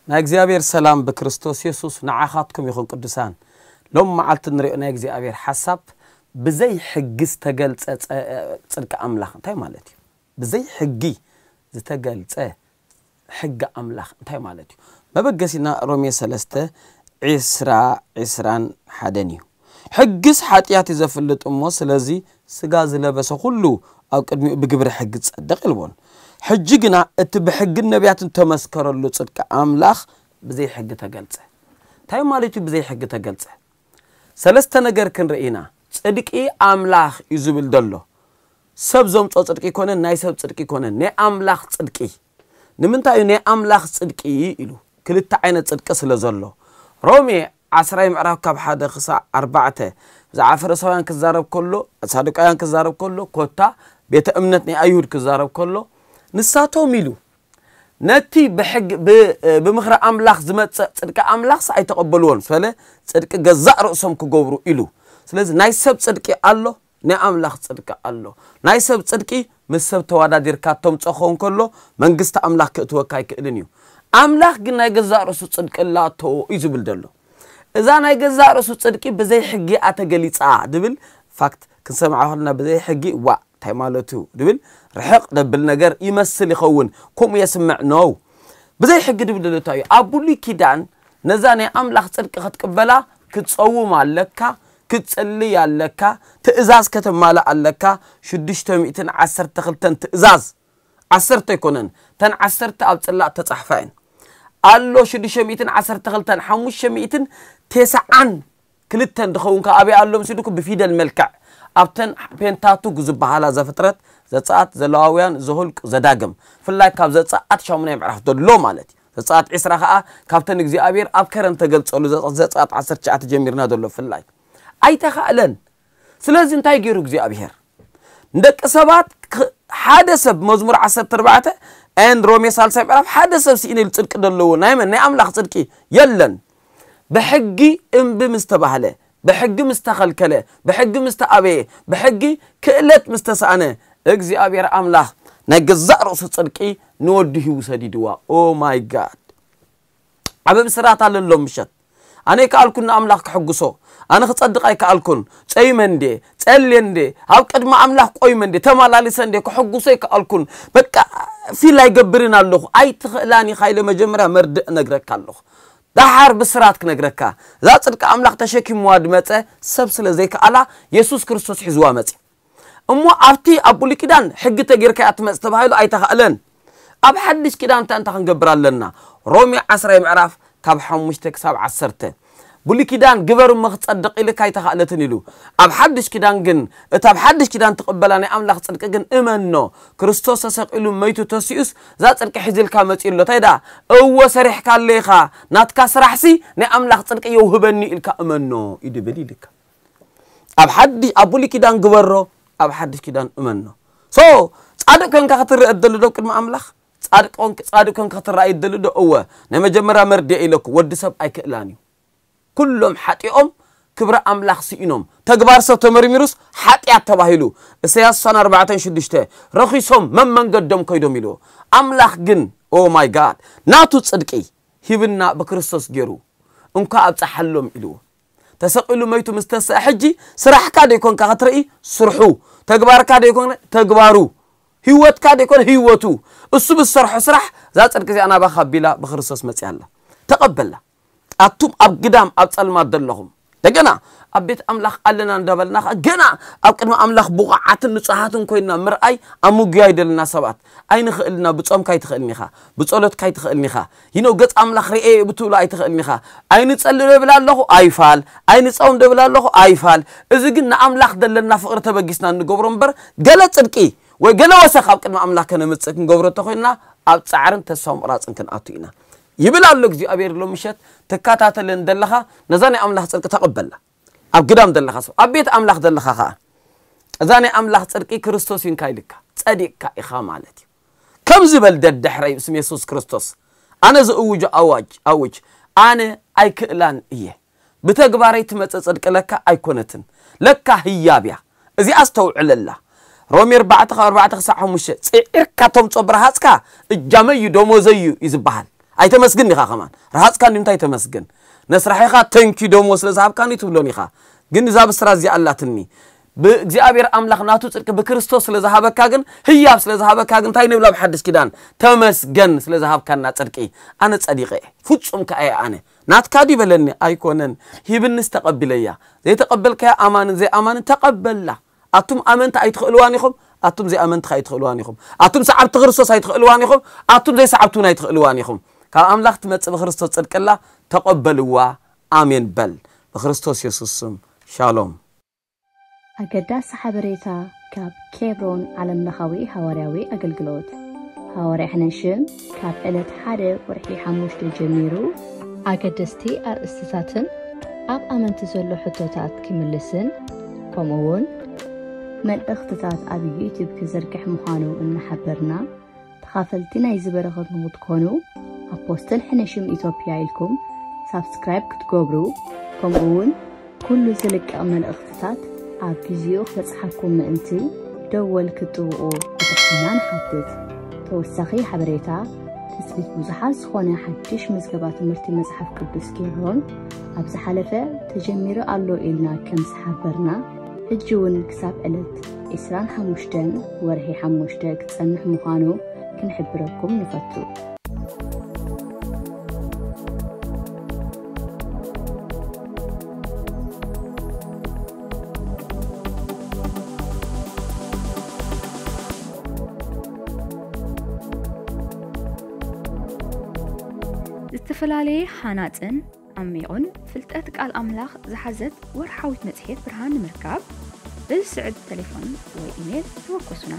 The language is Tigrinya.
ናይ እግዚኣብሔር ሰላም ብክርስቶስ የሱስ ንዓኻትኩም ይኹን። ቅዱሳን፣ ሎም መዓልቲ ንሪኦ ናይ እግዚኣብሔር ሓሳብ ብዘይ ሕጊ ዝተገልጸ ጸ-፣ ጽድቂ ኣምላኽ እንታይ ማለት እዩ? ብዘይ ሕጊ ዝተገልጸ ሕጊ ኣምላኽ እንታይ ማለት እዩ? መበገሲና ሮሜ ሰለስተ፣ ዒስራ፣ ዒስራን ሓደን እዩ። ሕግስ ሓጢኣት እዩ ዘፍልጥ እሞ፣ ስለዚ ስጋ ዝለበሰ ኩሉ ኣብ ቅድሚኡ ብግብሪ ሕጊ ዝጸድቕ የልቦን። ሕጂ ግና እቲ ብሕግን ነቢያትን ተመስከረሉ ጽድቂ ኣምላኽ ብዘይ ሕጊ ተገልጸ። እንታይ ማለት እዩ ብዘይ ሕጊ ተገልጸ? ሰለስተ ነገር ክንርኢ ኢና። ጽድቂ ኣምላኽ እዩ ዝብል ዘሎ። ሰብ ዘምጾ ጽድቂ ይኮነን፣ ናይ ሰብ ጽድቂ ይኮነን፣ ናይ ኣምላኽ ጽድቂ። ንምንታይ እዩ ናይ ኣምላኽ ጽድቂ ኢሉ? ክልተ ዓይነት ጽድቂ ስለ ዘሎ። ሮሜ ዓስራይ ምዕራፍ ካብ ሓደ ክሳዕ ኣርባዕተ ብዛዕባ ፈሪሳውያን ክዛረብ ከሎ፣ ሳዱቃውያን ክዛረብ ከሎ፣ ኮታ ቤተ እምነት ናይ ኣይሁድ ክዛረብ ከሎ፣ ንሳቶም ኢሉ ነቲ ብሕግ-፣ ብ-፣ ብምኽሪ ኣምላኽ ዝመጽእ ጽድቂ ኣምላኽስ ኣይተቐበልዎን፣ ስለ ጽድቂ ገዛእ ርእሶም ክገብሩ ኢሉ። ስለዚ ናይ ሰብ ጽድቂ ኣሎ፣ ናይ ኣምላኽ ጽድቂ ኣሎ። ናይ ሰብ ጽድቂ ምስ ሰብ ተወዳዲርካ ተምጽኦ ክኸውን ከሎ፣ መንግስቲ ኣምላኽ ክእትወካ ኣይክእልን እዩ። ኣምላኽ ግን ናይ ገዛእ ርእሱ ጽድቂ ኣላቶ እዩ ዝብል ዘሎ። እዛ ናይ ገዛእ ርእሱ ጽድቂ ብዘይ ሕጊ እያ ተገሊጻ ድብል ፋክት ክንሰምዓ ከለና፣ ብዘይ ሕጊ ዋእ እንታይ ማለቱ ድብል ርሕቕ ደብል ነገር ይመስል ይኸውን። ከምኡ የስምዕ ነው። ብዘይ ሕጊ ድብል ዘሎ እንታይ እዩ? ኣብ ብሉይ ኪዳን ነዛ ናይ ኣምላኽ ጽድቂ ክትቅበላ ክትጸውም ኣለካ፣ ክትጽልይ ኣለካ፣ ትእዛዝ ከተማልእ ኣለካ። ሽዱሽተ ሚእትን ዓሰርተ ክልተን ትእዛዝ፣ ዓሰርተ ኣይኮነን፣ ተን ዓሰርተ ኣብ ጽላእ ተጻሕፋ እየን። ኣሎ ሽዱሽተ ሚእትን ዓሰርተ ክልተን፣ ሓሙሽተ ሚእትን ተስዓን ክልተን ድኸውን ከኣ ኣበይ ኣሎ ምስ ኢልኩ ብፊደል መልክዕ ኣብተን ፔንታቱክ ዝበሃላ ዘፍጥረት፣ ዘጸኣት፣ ዘለዋውያን፣ ዘሁልቅ፣ ዘዳግም፣ ፍላይ ካብ ዘጸኣት ሻሙናይ ምዕራፍ ዘሎ ማለት እዩ። ዘጸኣት ዒስራ ከኣ ካብተን እግዚኣብሔር ኣብ ከረን ተገልጸሉ ዘ-፣ ዘጸኣት ዓሰርተ ትሽዓተ ጀሚርና ዘሎ ፍላይ ኣይተኻእለን። ስለዚ እንታይ ገይሩ እግዚኣብሔር? ንደቂ ሰባት ክ-፣ ሓደ ሰብ መዝሙር ዓሰርተ ኣርባዕተ and ሮሜ ሳልሳይ ምዕራፍ ሓደ ሰብ ስኢነ ኢሉ ጽድቂ ዘለዎ ናይ መን? ናይ ኣምላኽ ጽድቂ የለን። ብሕጊ እምቢ ምስ ተባህለ፣ ብሕጊ ምስ ተኸልከለ፣ ብሕጊ ምስ ተኣበየ፣ ብሕጊ ክእለት ምስ ተሳእነ፣ እግዚኣብሔር ኣምላኽ ናይ ገዛእ ርእሱ ጽድቂ ንወዱ ሂቡ ሰዲድዋ። Oh my God! ዓቢ ብስራት ኣለሎ ምሸት። ኣነ ኣይከኣልኩን ንኣምላኽ ክሕጉሶ። ኣነ ክጸድቕ ኣይከኣልኩን። ጸይመ እንዴ፣ ጸልየ እንዴ፣ ኣብ ቅድሚ ኣምላኽ ቆይመ እንዴ፣ ተመላሊሰ እንዴ፣ ክሕጉሶ ኣይከኣልኩን። በቃ ፊል ኣይገብርን ኣለኹ። ኣይትኽእላን ኢኻ ኢለ መጀመርያ መርድእ እነግረካ ኣለኹ። ደሓር ብስራት ክነግረካ። እዛ ጽድቂ ኣምላኽ ተሸኪምዋ ድመጸ ሰብ ስለ ዘይከኣላ፣ የሱስ ክርስቶስ ሒዝዋ መጽ። እሞ ኣብቲ ኣብ ብሉይ ኪዳን ሕጊ ተጌርካ እያ ትመጽእ ተባሂሉ ኣይተኻእለን። ኣብ ሓድሽ ኪዳን እንታይ እንታይ ክንገብር ኣለና? ሮሜ ዓስራይ ምዕራፍ ካብ ሓሙሽተ ክሳብ ዓሰርተ። ብሉይ ኪዳን ግበር እሞ ክጸድቕ ኢልካ ኣይተኻእለትን ኢሉ። ኣብ ሓድሽ ኪዳን ግን፣ እታ ኣብ ሓድሽ ኪዳን ትቕበላ ናይ ኣምላኽ ጽድቂ ግን እመኖ። ክርስቶስ ተሰቒሉ መይቱ ተሲኡስ እዛ ጽድቂ ሒዝልካ መጺኡ ኣሎ። እንታይ ደኣ? እወ ሰሪሕካ ኣሎ ኢኻ። ናትካ ስራሕሲ ናይ ኣምላኽ ጽድቂ የውህበኒ ኢልካ እመኖ እዩ ድብል ኢልካ። ኣብ ሓዲ-፣ ኣብ ብሉይ ኪዳን ግበሮ፣ ኣብ ሓድሽ ኪዳን እመኖ። ሶ፣ ጻድቅ ኮንካ ክትረአ ትደሊ ዶ ቅድሚ ኣምላኽ? ጻድቅ ኮንክ-፣ ጻድቅ ኮንካ ክትረኣይ ትደሊ ዶ? እወ። ናይ መጀመርያ መርድእ ኢለኩ፣ ወዲ ሰብ ኣይክእላን እዩ። ኩሎም ሓጢኦም ክብሪ ኣምላኽ ስኢኖም። ተግባር ሰብ ተመርሚሩስ ሓጢኣት ተባሂሉ። እሰያስ ስሳን ኣርባዕተን ሽዱሽተ፣ ረኺሶም መን መንገዶም ከይዶም ኢልዎ። ኣምላኽ ግን፣ ኦ ማይ ጋድ፣ ናቱ ጽድቂ ሂብና ብክርስቶስ ገይሩ። እንኳ ኣብጽሓሎም ኢልዎ። ተሰቒሉ መይቱ ምስ ተስአ ሕጂ ስራሕካ ደይኮንካ ክትርኢ ስርሑ፣ ተግባርካ ደይኮነ ተግባሩ፣ ህይወትካ ደይኮነ ህይወቱ፣ እሱ ብዝሰርሖ ስራሕ እዛ ጽድቂ እዚኣ ናባኻ ኣቢላ ብክርስቶስ መጺኣ ኣላ። ተቐበላ። ኣቱም ኣብ ግዳም ኣብ ጸልማት ዘለኹም፣ እንደገና ኣብ ቤት ኣምላኽ ኣለና እንዳበልና ኸኣ ገና ኣብ ቅድሚ ኣምላኽ ብቑዓትን ንጹሃትን ኮይንና ምርኣይ ኣምጉያ ይደልና ሰባት። ኣይንኽእልና፣ ብጾምካ ኣይትኽእልን ኢኻ፣ ብጸሎትካ ኣይትኽእልን ኢኻ። ይኖ ገጽ ኣምላኽ ርኤ ብትብሎ ኣይትኽእልን ኢኻ። ኣይንጸሊ ዶ ይብል ኣለኹ? ኣይፋል። ኣይንጸውም ዶ ይብል ኣለኹ? ኣይፋል። እዚ ግን ንኣምላኽ ዘለና ፍቕሪ ተበጊስና እንገብሮ እምበር፣ ገለ ጽድቂ ወይ ገለ ወሰኽ ኣብ ቅድሚ ኣምላኽ ከነምጽእ ክንገብሮ እንተኾይንና፣ ኣብ ጻዕርን ተስፋ ምቑራጽን ክንኣቱ ኢና። ይብል ኣሎ እግዚኣብሔር። ሎም ምሸት ትከታተለን ዘለኻ ነዛ ናይ ኣምላኽ ጽድቂ ተቐበላ። ኣብ ግዳም ዘለኻ ሰብ፣ ኣብ ቤት ኣምላኽ ዘለኻ ኸኣ፣ እዛ ናይ ኣምላኽ ጽድቂ ክርስቶስ ኢንካ ኢልካ፣ ጸዲቕካ ኢኻ ማለት እዩ። ከምዚ በል ደድሕረይ ብስም የሱስ ክርስቶስ። ኣነ ዝእውጆ ኣዋጅ ኣውጅ። ኣነ ኣይክእላን እየ። ብተግባረይ ትመጽእ ጽድቂ ለካ ኣይኮነትን። ለካ ህያብ እያ። እዚኣ ኣስተውዕለላ። ሮሜ ኣርባዕተ ካብ ኣርባዕተ ክሳዕ ሓሙሽተ ጽዒርካ ተምጾ ብረሃጽካ እጃመይ እዩ ደሞዘይ እዩ እዩ ዝበሃል። ኣይተመስግን ኢኻ ከማን። ረሃጽካ እንዲ እንታይ ተመስግን? ነስራሒኻ ተንኪ ደሞ ስለ ዝሃብካኒ ትብሎን ኢኻ። ግን እዛ ብስራት እዚኣ ኣላትኒ። ብእግዚኣብሔር ኣምላኽ ናቱ ጽድቂ ብክርስቶስ ስለ ዝሃበካ ግን፣ ህያብ ስለ ዝሃበካ ግን እንታይ ንብላ ብሓድሽ ኪዳን? ተመስገን ስለ ዝሃብካና ጽድቂ። ኣነ ጸዲቐ እየ። ፍጹም ከኣ እየ ኣነ። ናትካ ድዩ በለኒ? ኣይኮነን። ሂብንስ ተቐቢለያ። ዘይተቐበልካያ ኣማንን ዘይኣማንን ተቐበላ። ኣቱም ኣመንቲ ኣይትኽእልዋን ኢኹም፣ ኣቱም ዘይኣመንቲ ከኣ ኣይትኽእልዋን ኢኹም። ኣቱም ሰዓብቲ ክርስቶስ ኣይትኽእልዋን ኢኹም፣ ኣቱም ዘይሰዓብቲ እውን ኣይትኽእልዋን ኢኹም። ካብ ኣምላኽ ትመጽእ ብክርስቶስ ጽድቅላ ተቐበልዋ። ኣሜን በል። ብክርስቶስ የሱስ ስም ሻሎም። ኣገዳሲ ሓበሬታ ካብ ኬብሮን ዓለምለኻዊ ሃዋርያዊ ኣገልግሎት። ሃዋርያ ሕነሽም ካብ ዕለት ሓደ ወርሒ ሓሙሽተ ጀሚሩ ኣገደስቲ ኣርእስትታትን ኣብ ኣመንቲ ዘሎ ሕቶታት ክምልስን ከምኡ እውን መልእኽትታት ኣብ ዩቲዩብ ክዝርግሕ ምዃኑ እናሓበርና፣ ተኻፈልቲ ናይዚ በረኸት ንኽትኮኑ ኣፖስትል ሕነሽም ኢትዮጵያ ኢልኩም ሳብስክራይብ ክትገብሩ፣ ከምኡ እውን ኩሉ ዝልቀቕ መልእኽትታት ኣብ ግዜኡ ክበጽሓኩም ምእንቲ ደወል ክትጥውቑ ብትሕትና ንሓትት። ተወሳኺ ሓበሬታ፣ ትጽቢት ብዙሓት ዝኾነ ሓድሽ ምዝገባ ትምህርቲ መጽሓፍ ቅዱስ ኬብሮን ኣብ ዝሓለፈ ተጀሚሩ ኣሎ ኢልና ከም ዝሓበርና፣ ሕጂ እውን ክሳብ ዕለት ዕስራን ሓሙሽተን ወርሒ ሓሙሽተ ክጸንሕ ምዃኑ ክንሕብረኩም ንፈቱ። ዝተፈላለየ ሃናጽን ዓሚቑን ፍልጠት ቃል ኣምላኽ ዝሓዘት ወርሓዊት መጽሔት ብርሃን ንምርካብ፣ በዚ ስዕብ ተሌፎን ወይ ኢሜል ተወከሱና።